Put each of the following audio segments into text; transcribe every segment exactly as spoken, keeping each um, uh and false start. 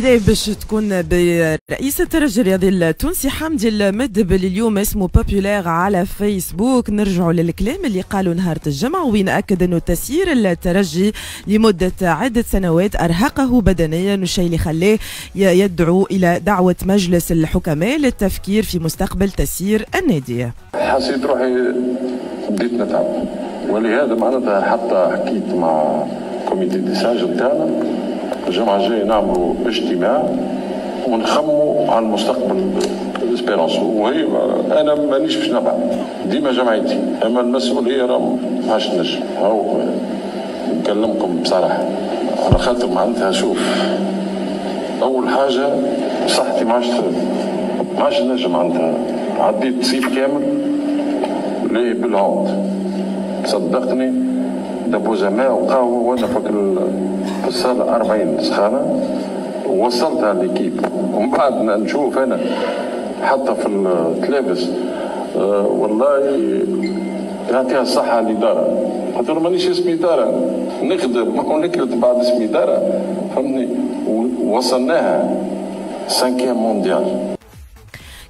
البداية باش تكون برئيس الترجي الرياضي التونسي حمدي المدب اللي اليوم اسمه populaire على فيسبوك. نرجعوا للكلام اللي قالوا نهار الجمعة، وين أكد أنه تسيير الترجي لمدة عدة سنوات أرهقه بدنيا، والشيء اللي خلاه يدعو إلى دعوة مجلس الحكماء للتفكير في مستقبل تسيير النادي. حسيت روحي بديت نتعب، ولهذا معناتها حتى حكيت مع comité des sages نتاعنا الجمعة الجاية نعملوا اجتماع ونخموا على المستقبل l'Espérance. وهي انا مانيش باش نبعد ديما جمعيتي، اما المسؤولية راه ما عادش نجم. هاو نكلمكم بصراحة على خاطر معناتها شوف، اول حاجة صحتي ما عادش ما عادش نجم، معناتها عديت صيف كامل ليه بال hand، صدقني دبوزة ماء وقهوة وانا فاكر في الصالة أربعين سخانة ووصلتها l'équipe. ومن بعد نشوف أنا حتى في التلابس أه والله يعطيها الصحة الإدارة، خاطر مانيش اسمي إدارة نخدم ونكلت بعد اسمي إدارة، فهمتني؟ ووصلناها cinquième mondial.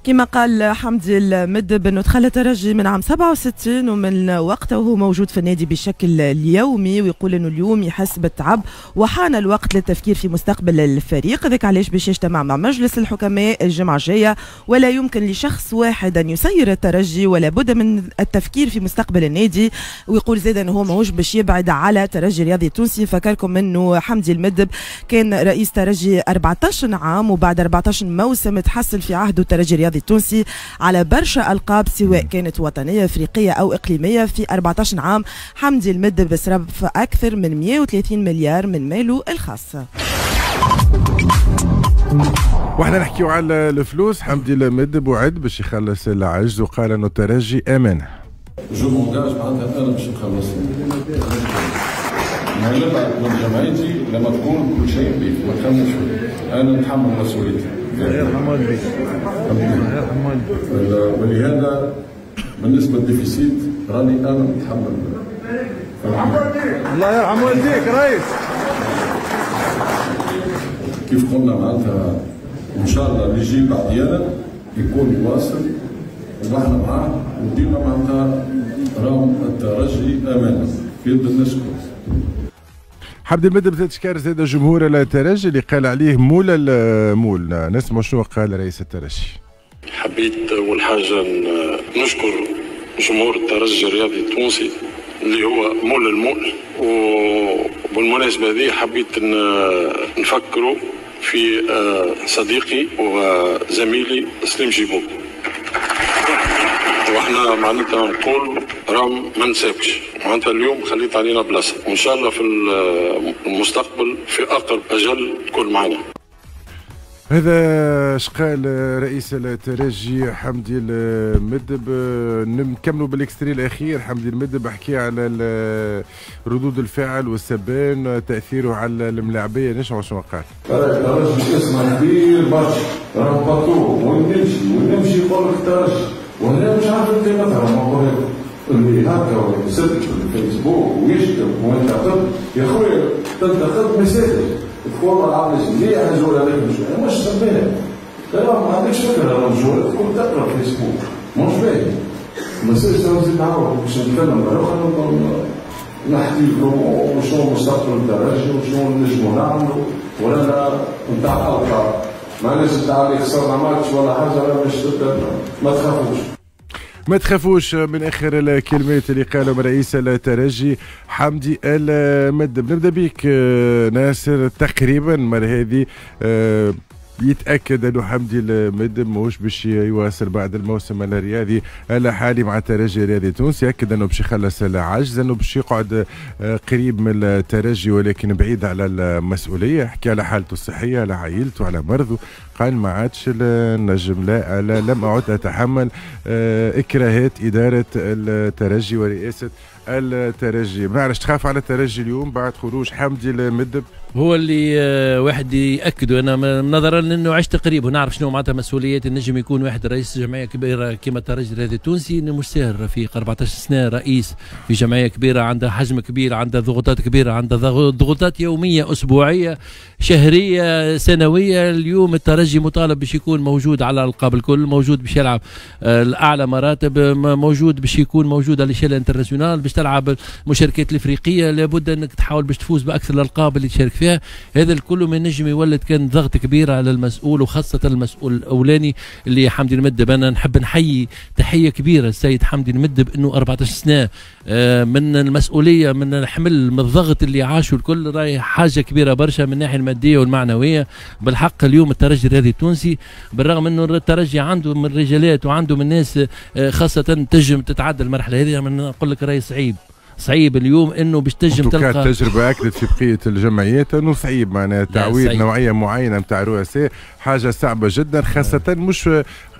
كما قال حمدي المدب انه دخل الترجي من عام سبعة وستين ومن وقته وهو موجود في النادي بشكل يومي، ويقول انه اليوم يحس بالتعب وحان الوقت للتفكير في مستقبل الفريق. ذاك علاش باش يجتمع مع مجلس الحكماء الجمعة الجاية، ولا يمكن لشخص واحد ان يسير الترجي ولا بد من التفكير في مستقبل النادي. ويقول زاد انه هو ماهوش باش يبعد على ترجي الرياضي التونسي. فكركم انه حمدي المدب كان رئيس ترجي أربعة عشر عام، وبعد أربعة عشر موسم تحصل في عهده الترجي الرياضي التونسي على برشا ألقاب سواء كانت وطنية أفريقية أو إقليمية. في أربعة عشر عام حمدي المدب صرف أكثر من مئة وثلاثين مليار من ماله الخاص. واحنا نحكيو على الفلوس، حمدي المدب وعد باش يخلص العجز وقال انه الترجي امانه. je m'engage معناتها انا باش نخلص. نبعد من جمعيتي لما تكون كل شيء بيك، ما تخممش، انا نتحمل مسؤوليتي. الله يرحم والديك. الله يرحم والديك. ولهذا بالنسبة لل déficit راني انا متحمل. الله يرحم والديك رئيس. كيف قلنا معناتها ان شاء الله اللي يجي بعدينا يكون يواصل ونحن معاه، وديما معناتها راهم الترجي امانه في يد الناس الكل. حمدي المدب زاد شكار زاد جمهور الترجي اللي قال عليه مول المول. نسمع شنو قال رئيس الترجي. حبيت اول حاجة نشكر جمهور الترجي الرياضي التونسي اللي هو مول المول، وبالمناسبة هذه حبيت نفكره في صديقي وزميلي سليم جيبو، واحنا معناتها نقول رام ما نساكش، معناتها اليوم خليت علينا بلاصة، وان شاء الله في المستقبل في اقرب اجل تكون معنا. هذا شقال رئيس الترجي حمدي المدب. نكملوا بال extrait الاخير. حمدي المدب حكي على ردود الفعل والسبان تاثيره على الملاعبيه. نسمعوا شنو قال. الترجي اسمه كبير برشا، راهو بطو وين نمشي وين نمشي يقول لك الترجي، وهنا مش عارف قيمتها. اللي هكا ويسب في الفيسبوك ويشتم وينتقد، يا خويا تنتقد مساجد تقول ما عملش مليح الجول هذاك مش مش سبان، ما عندكش فكرة على الجول تكون تقرا فيسبوك مش باهي. ما يصيرش نزيد نعاود باش نتكلم مرة اخرى نحكي لكم شنو مستقبل الترجي وشنو نجمو نعملوا، ولا نتاع القاب ماناش نتاع اللي خسرنا ماتش ولا حاجة، مش ما تخافوش. ما تخافوش من اخر الكلمات اللي قالهم رئيس الترجي حمدي المدب. نبدا بك ناصر، تقريبا المرة هذه يتاكد انه حمدي المدب ماهوش باش يواصل بعد الموسم الرياضي الحالي مع الترجي الرياضي التونسي. ياكد انه باش يخلص العجز، انه باش يقعد قريب من الترجي ولكن بعيد على المسؤولية. حكي على حالته الصحية، على عائلته، على مرضه، قال ما عادش النجم، لا, لا لم اعد اتحمل اكراهات ادارة الترجي ورئاسه الترجي. ما نعرفش تخاف على الترجي اليوم بعد خروج حمدي المدب؟ هو اللي واحد ياكد، انا نظرا لانه عشت قريب ونعرف شنو معناتها مسؤوليات النجم يكون واحد رئيس جمعية كبيرة كما الترجي الرياضي التونسي، انه مش ساهل رفيق. أربعطاش سنة رئيس في جمعية كبيرة عندها حجم كبير، عندها ضغوطات كبيرة، عندها ضغوطات يومية اسبوعية شهرية سنوية. اليوم الترجي مطالب باش يكون موجود على الالقاب الكل، موجود باش يلعب الاعلى مراتب، موجود باش يكون موجود على l'échelle internationale، باش تلعب المشاركات الافريقية، لابد انك تحاول باش تفوز باكثر الالقاب اللي تشارك فيها. هذا الكل ما نجم يولد كان ضغط كبير على المسؤول، وخاصة المسؤول الاولاني اللي حمدي المدب. انا نحب نحيي تحية كبيرة السيد حمدي المدب، انه أربعطاش سنة من المسؤولية، من الحمل، من الضغط اللي عاشوا الكل، راهي حاجة كبيرة برشا من الناحية المادية والمعنوية. بالحق اليوم الترجي الرياضي التونسي بالرغم انه الترجي عنده من رجالات وعنده من ناس خاصة تنجم تتعدى المرحلة هذه، نقول لك راهي صعيب صعيب اليوم انه باش تنجم تلقى. التجربة اكدت في بقية الجمعيات انه صعيب، معناها تعويض نوعية معينة نتاع رؤساء حاجة صعبة جدا، خاصة مش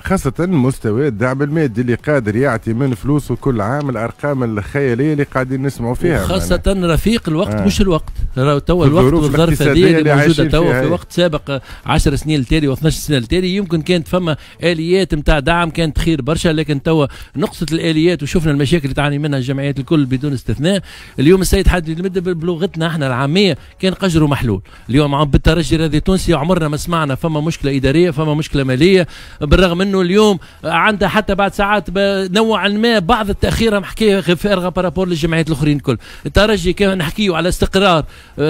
خاصة مستوى الدعم المادي اللي قادر يعطي من فلوسه كل عام، الأرقام الخيالية اللي قاعدين نسمعوا فيها. خاصة رفيق الوقت آه. مش الوقت، توا الوقت والظرف هذه اللي موجودة توا. في وقت سابق عشر سنين التالي واثناش سنة التالي يمكن كانت فما آليات نتاع دعم كانت خير برشا، لكن توا نقصت الآليات وشفنا المشاكل اللي تعاني منها الجمعيات الكل بدون استثناء. اليوم السيد حمدي المدب بلغتنا احنا العامية كان قجره محلول. اليوم بالترجي الرياضي التونسي عمرنا ما سمعنا فما مشكلة إدارية، فما مشكلة مالية، بالرغم انه اليوم عندها حتى بعد ساعات نوعا ما بعض التاخير حكاية فارغة par rapport للجمعيات الاخرين الكل. الترجي كان نحكيو على استقرار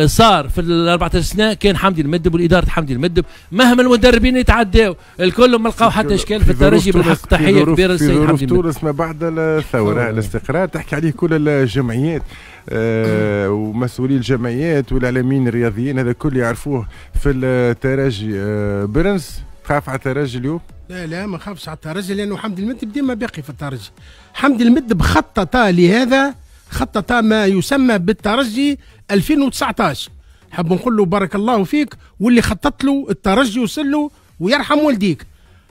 صار في ال أربعطاش سنة، كان حمدي المدب والادارة حمدي المدب مهما المدربين يتعداو الكل ما لقاو حتى اشكال في الترجي. بالحق تحية كبيرة للسيد حمدي المدب. تونس ما بعد الثورة الاستقرار تحكي عليه كل الجمعيات آه ومسؤولي الجمعيات والاعلاميين الرياضيين، هذا الكل يعرفوه في الترجي. آه برنس، تخاف على الترجي اليوم؟ لا لا ما خافش على الترجي، لانه حمدي المدب ديما باقي في الترجي. حمدي المدب خطط لهذا، خطط ما يسمى بالترجي ألفين وتسعطاش. حاب نقول له بارك الله فيك، واللي خطط له الترجي وصل له ويرحم والديك.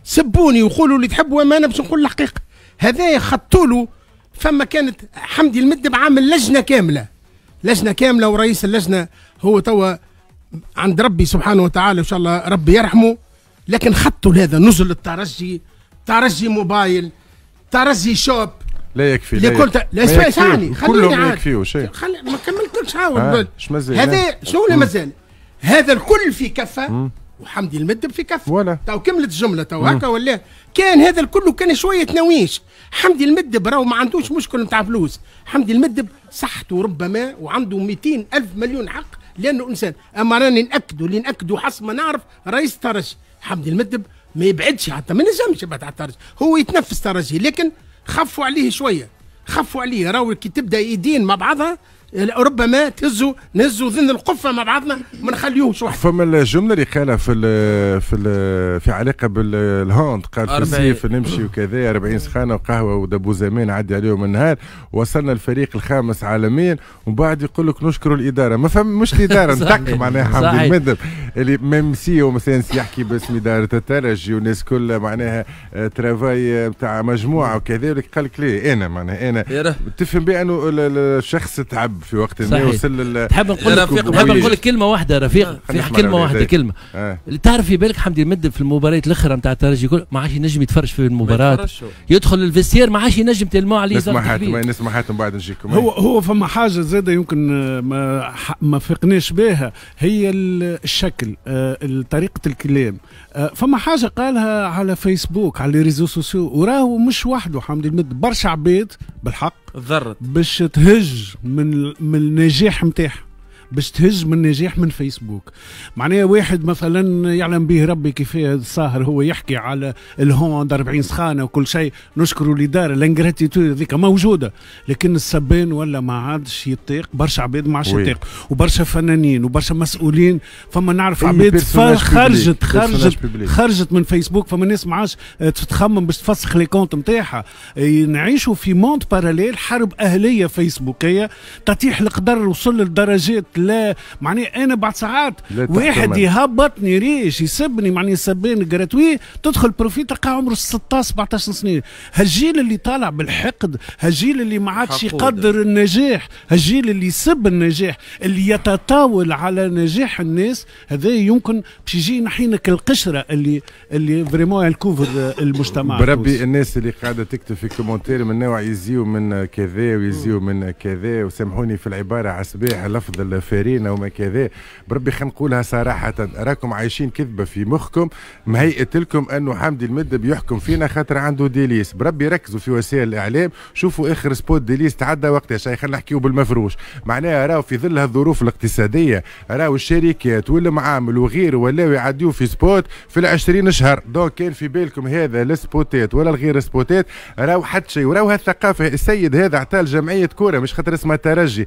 سبوني وقولوا اللي تحبوا، اما انا باش نقول الحقيقة. هذا خطوا له. فما كانت حمدي المدب عامل لجنة كاملة، لجنة كاملة، ورئيس اللجنة هو توا عند ربي سبحانه وتعالى، ان شاء الله ربي يرحمه. لكن خطوا لهذا نزل الترجي، ترجي موبايل، ترجي shop. لا يكفي، لا يكفي، لا اسمعني، خليني عاد يكفيو شيء، خلي ما كملتلكش عاود. هذا شنو اللي مازال؟ هذا الكل في كفه وحمدي المدب في كفه. ولا تو كملت الجملة تو هكا ولا؟ كان هذا الكل كان شوية تناويش. حمدي المدب راهو ما عندوش مشكل نتاع فلوس، حمدي المدب صحته ربما وعنده مئتين ألف مليون حق لانه انسان. اما راني ناكدوا اللي ناكدوا حسب ما نعرف رئيس الترجي حمدي المدب ما يبعدش، حتى ما نجمش يبعد على الترجي، هو يتنفس ترجي، لكن خفوا عليه شوية، خفوا عليه. راهو كي تبدا ايدين مع بعضها ربما تهزوا نهزوا ذن القفه مع بعضنا، ما نخليوش وحده. فما الجملة اللي قالها في ال في ال في علاقة بال hand، قال في الصيف نمشي وكذا أربعين سخانه وقهوة ودبو زمان عدي عليهم النهار، وصلنا الفريق الخامس عالميا، ومن بعد يقول لك نشكروا الادارة. ما فهم مش الادارة نتك معناها حمدي المدب اللي même si ومثلا يحكي باسم ادارة الترجي والناس كلها معناها travail نتاع مجموعة وكذا، قال لك ليه انا معناها انا تفهم بانه الشخص تعب في وقت ما وصل. تحب نقول لك تحب نقول لك كلمة واحدة رفيق، في كلمة واحدة كلمة آه. تعرف في بالك حمدي المدب في المباريات الاخرى نتاع الترجي ما عادش ينجم يتفرج في المباراة، يدخل ال vestiaire ما عادش ينجم تلمو عليه. نسمع حاتم، نسمع حاتم بعد نجيكم. هو هو فما حاجة زاده يمكن ما ما فقناش بها، هي الشكل، طريقه الكلام. فما حاجة قالها على فيسبوك على les réseaux sociaux، وراهو مش وحده حمدي المدب، برشا عباد بالحق ضرت باش تهج من من النجاح نتاعها، باش تهج من النجاح من فيسبوك. معناها واحد مثلا يعلم به ربي كيفاه الساهر هو يحكي على ال hand أربعين سخانه وكل شيء، نشكروا الادارة، l'ingratitude هذيك موجودة، لكن السبان ولا ما عادش يطيق، برشا عباد ما عادش يطيق، وبرشا فنانين وبرشا مسؤولين. فما نعرف عباد خرجت خرجت خرجت من فيسبوك، فما ناس ما عادش تخمم باش تفسخ les comptes نتاعها. نعيشوا في monde parallèle، حرب اهليه فيسبوكيه، تطيح القدر وصل لدرجات لا معناها انا بعد ساعات واحد يهبطني ريش يسبني معناها سبان gratuit، تدخل profil تلقى عمره ستة عشر سبعة عشر سنة. هالجيل اللي طالع بالحقد، هالجيل اللي ما عادش يقدر النجاح، هالجيل اللي يسب النجاح، اللي يتطاول على نجاح الناس، هذا يمكن باش يجي ينحيلك القشرة اللي اللي vraiment elle couvre المجتمع. بربي الناس اللي قاعدة تكتب في commentaire من نوع يزيو من كذا ويزيو من كذا، وسامحوني في العبارة على صباح لفظ الفارينه وما كذا، بربي خلينا نقولها صراحه، راكم عايشين كذبه في مخكم مهيئة لكم انه حمدي المدب يحكم فينا خاطر عنده délices. بربي ركزوا في وسائل الاعلام، شوفوا اخر spot délices تعدى وقتاش. خلينا نحكيو بالمفروش، معناها راهو في ظل هالظروف الاقتصادية راهو الشركات والمعامل وغيره ولاو يعديو في spot في العشرين شهر. donc كان في بالكم هذا السبوتات ولا الغير سبوتات، راهو حتى شيء. وراهو هالثقافه، السيد هذا عطاه لجمعية كورة مش خاطر اسمها ترجي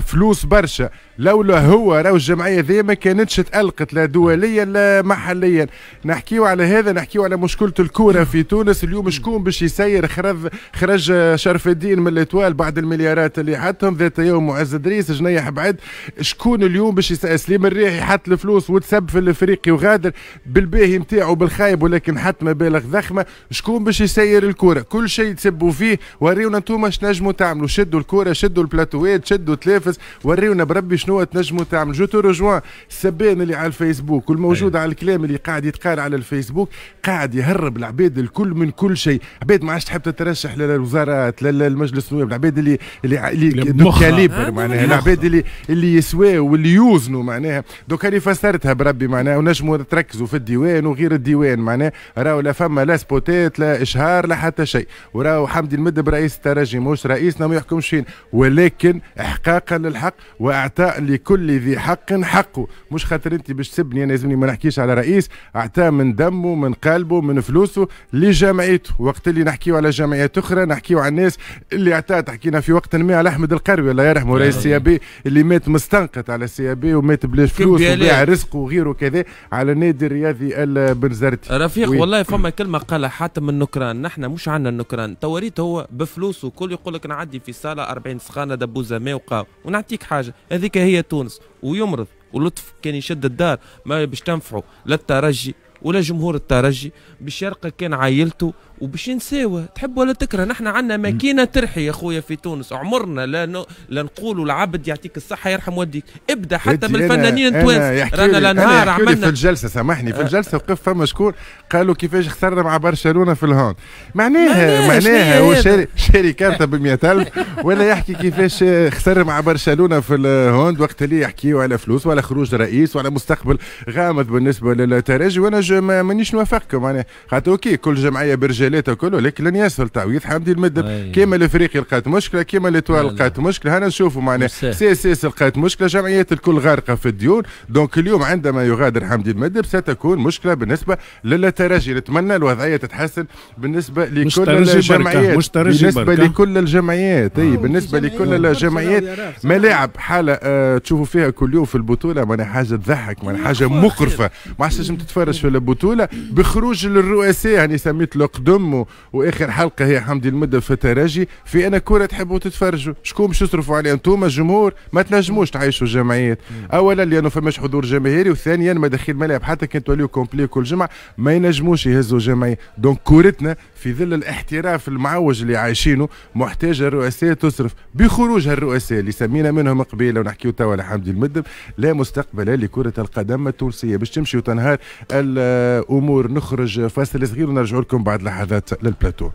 فلوس برشا، لولا هو راهو الجمعية ذي ما كانتش تألقت لا دوليا لا محليا. نحكيو على هذا، نحكيو على مشكلة الكورة في تونس اليوم، شكون باش يسير؟ خرج خرج شرف الدين من l'Étoile بعد المليارات اللي حطهم ذات يوم، معز دريس جنيح بعد، شكون اليوم باش يسير؟ سليم الرياحي حط الفلوس وتسب في الافريقي وغادر بالباهي نتاعو بالخايب، ولكن حط مبالغ ضخمه. شكون باش يسير الكورة؟ كل شيء تسبوا فيه، وريونا انتم اش نجموا تعملوا. شدوا الكوره، شدوا البلاتوات، شدوا تلافز، وريونا بربي شنو تنجموا تعملوا. je te rejoins، السبان اللي على الفيسبوك والموجود على الكلام اللي قاعد يتقال على الفيسبوك قاعد يهرب العباد الكل من كل شيء. عباد ما عادش تحب تترشح للوزارات لا للمجلس النواب، العباد اللي اللي اللي de calibre معناها، العباد اللي اللي يسواو واللي يوزنوا معناها. donc هذه فسرتها بربي معناها، ونجموا تركزوا في الديوان وغير الديوان معناها، راهو لا فما لا سبوتات لا اشهار لا حتى شيء. وراهو حمدي المدب رئيس الترجي مش رئيسنا، ما يحكمش فينا، ولكن احقاقا للحق واعطاء لكل ذي حق حقه. مش خاطر انت باش تسبني انا لازمني ما نحكيش على رئيس اعطاه من دمه من قلبه من فلوسه لجمعيته. وقت اللي نحكيو على جمعيات اخرى نحكيو على الناس اللي اعطات، حكينا في وقت ما على احمد القروي الله يرحمه رئيس CAB اللي مات مستنقط على CAB ومات بلاش فلوس وبيع رزقه وغيره كذا على النادي الرياضي البنزرتي. رفيق والله فما كلمة قالها حاتم النكران، نحن مش عندنا النكران، توريت هو بفلوسه كل يقول لك نعدي في صاله أربعين سخانه دبوزه ماء وقاو ونعطيك حاجه، هذيك هي تونس. ويمرض ولطف كان يشد الدار ما باش تنفعه لا الترجي ولا جمهور الترجي، باش يرقى كان عائلته وباش ينساوه. تحب ولا تكره نحن عندنا ماكينة ترحي يا خويا في تونس، عمرنا لا ن... لا نقولوا العبد يعطيك الصحة يرحم والديك، ابدا حتى من الفنانين التوانسة رانا لا نهار عملنا في الجلسة، سامحني في الجلسة وقف فما شكون قالوا كيفاش خسرنا مع برشلونة في ال hand، معناها معناها هو شاري شاري كارته ب مئة ألف ولا يحكي كيفاش خسر مع برشلونة في ال hand، وقت اللي يحكيوا على فلوس ولا خروج رئيس ولا مستقبل غامض بالنسبة للترجي. وانا مانيش نوافقكم معناها، خاطر OK كل جمعية برجالاتها كله، لكن لن يسهل تعويض حمدي المدب. كيما الافريقي لقات مشكله، كيما l'Étoile لقات مشكله، هنا نشوفوا معناها CSS لقات مشكله، جمعيات الكل غارقة في الديون. donc اليوم عندما يغادر حمدي المدب ستكون مشكلة بالنسبة للترجي. نتمنى الوضعية تتحسن بالنسبة لكل الجمعيات، بالنسبة لكل الجمعيات، اي بالنسبة لكل الجمعيات. ملاعب حاله آه تشوفوا فيها كل يوم في البطولة معناها حاجة تضحك، معناها حاجة مقرفه، ما عادش تنجم تتفرج في البطولة بخروج للرؤساء. يعني سميت القدم واخر حلقة هي حمدي المدب في الترجي. في انا كره تحبوا تتفرجوا، شكون باش تصرفوا عليه انتم الجمهور؟ ما تنجموش تعيشوا الجمعيات، اولا لانه فماش حضور جماهيري، وثانيا مداخيل ملاعب حتى كان توليو complet كل جمعه ما ينجموش يهزوا جمعيه. donc كورتنا في ظل الاحتراف المعوج اللي عايشينه محتاجه الرؤساء تصرف. بخروج هالرؤساء اللي سمينا منهم قبيلة ونحكيو توا على حمدي المدب، لا مستقبل لكرة القدم التونسية، باش تمشي وتنهار الامور. نخرج فاصل صغير ونرجع لكم بعد لحظات للبلاتو.